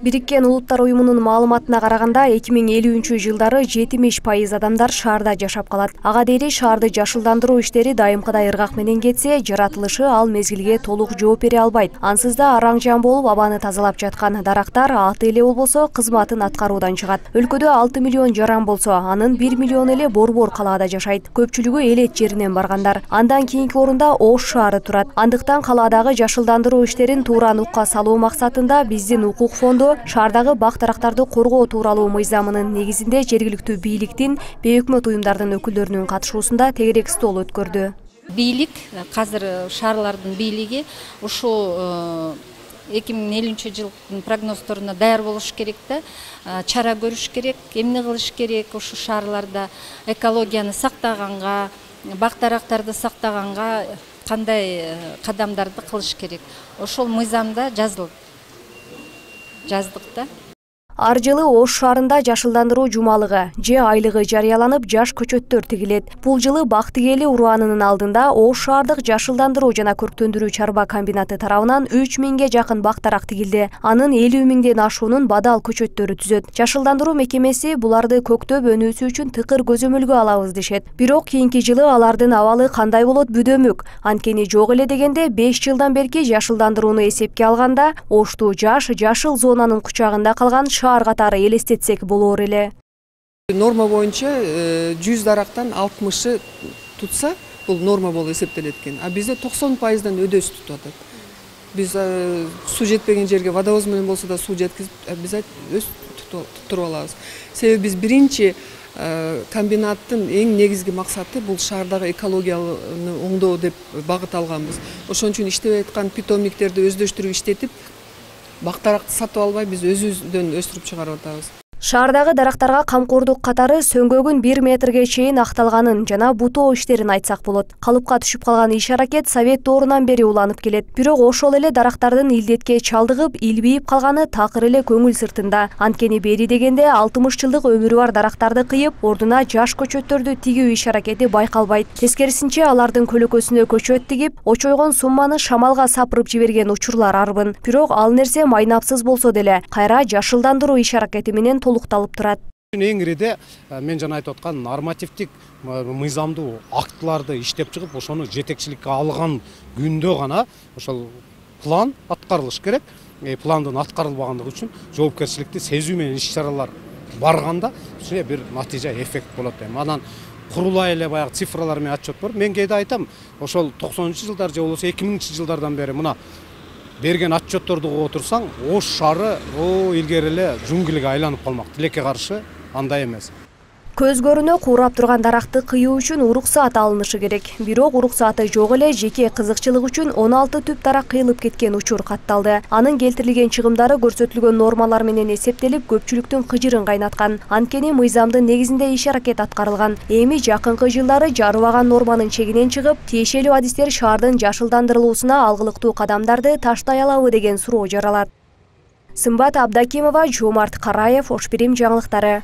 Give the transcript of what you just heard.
Бириккен Улуттар уюмунун маалыматына караганда 2050-жылдары 70% адамдар шаарда жашап калат. Ага дейли шаарды жашылдандыруу иштери дайымкыдай ыргак менен кетсе, жаратылышы ал мезгилге толук жооп бере албайт. Ансыз да араң-жан болуп абаны тазалап жаткан дарактар аты эле болбосо кызматын аткаруудан чыгат. Өлкөдө 6 миллион жаран болсо, анын 1 миллион эле Борбор калаада жашайт. Көпчүлүгү элет жеринен баргандар. Андан кийинки орунда Ош шаары турат. Андыктан калаадагы жашылдандыруу иштерин туура нукка салуу максатында биздин укук фонду шаардагы бак-дарактарды коргоо тууралуу мыйзамынын негизинде жергиликтүү бийликтин, бейөкмөт уюмдардын өкүлдөрүнүн катышуусунда тегерек стол өткөрдү. Бийлик азыр шаарлардын бийлиги ушул 2050-жылдын прогнозторуна даяр болуш керек да, чара көрүш керек, эмне кылыш керек ушу шаарларда экологияны сактаганга, бак-дарактарды сактаганга кандай кадамдарды кылыш керек. Ошол мыйзамда жаздык да. Ар жылы Ош шаарында жашылдандыруу жумалыгы же айлыгы жарыяланып, жаш көчөттөр тигилет. Бул жылы Бактыгели ураанынын алдында Ош шаардык жашылдандыруу жана көрктөндүрүү чарба комбинаты тарабынан 3000ге жакын бак-дарак тигилди. Анын 50 миңден ашуунун бадал көчөттөрү түзөт. Жашылдандыруу мекемеси буларды көктөп өнүүсү үчүн тыкыр көзөмөлгө алабыз дешет. Бирок кийинки жылы алардын абалы кандай болот бүдөмүк. Анткени жок эле дегенде 5 жылдан берки жашылдандырууну эсепке алганда, Ошту жашыл зонанын кучагында калган шаар катары элестетсек болор эле. Норма боюнча 100 дарактан 60-ы тутса, бул норма болуп эсептелет экен. А бизде 90%дан өдөсү тутуп атат. Биз суу жетпеген жерге водовоз менен болсо да суу жеткизип, биз өз туруп алабыз. Себеби биз биринчи комбинаттын эң негизги максаты бул шаардагы экологияны оңдоо деп багыт алганбыз. Ошон үчүн иштеп аткан питомниктерди өздөштүрүп иштетип, бак-даракты сатып албай биз өзүбүздөн өстүрүп чыгарып атабыз. Шаардагы дарактарга камкордук катары сөңгөгүн 1 метрге чейин акталганын жана бутоо иштерин айтсак болот. Калыпка түшүп калган иш-аракет Совет доорунан бери уланып келет. Бирок ошол эле дарактардын илдетке чалдыгып, илбейип калганы такыр эле көңүл сыртында. Анткени бери дегенде 60 жылдык өмүрү бар дарактарды кыйып, ордуна жаш көчөттөрдү тигүү иш-аракети байкалбайт. Тескерисинче алардын көлөкөсүнө көчөт тигип, очойгон сумманы шамалга сапырып жиберген учурлар арбын. Бирок ал нерсе майнапсыз болсо деле, кайра жашылдандыруу иш-аракети менен толукталып турат. Эң ириде мен жана айтып аткан нормативдик мыйзамдуу актыларды иштеп чыгып, ошону жетекчиликке алган күндө гана ошол план аткарылыш керек. Пландын аткарылбагандыгы үчүн жоопкерчиликти сезүү менен иш-чаралар барганда бир натыйжа эффект болот. Анан курулай эле баягы цифралар менен отчет бар. Мен кээде айтам, ошол 90-жылдар же болбосо 2000-жылдардан бери мына берген отчетторду угуп отурсаң, Ош шаары илгери эле жунгилге айланып калмак. Тилекке каршы андай эмес. Көз көрүнө куурап турган даракты кыюу үчүн уруксаат алынышы керек. Бирок уруксааты жок эле жеке кызыкчылык үчүн 16 түп дарак кыйылып кеткен учур катталды. Анын келтирилген чыгымдары көрсөтүлгөн нормалар менен эсептелип, көпчүлүктүн кыжырын кайнаткан. Анткени мыйзамдын негизинде иш-аракет аткарылган. Эми жакынкы жылдары жарыбаган норманын чегинен чыгып, тиешелүү адистер шаардын жашылдандырылуусуна алгылыктуу кадамдарды таштай алабы деген суроо жаралат. Сымбат Абдакимова, Жомарт Караев, Ош Бирим жаңылыктары.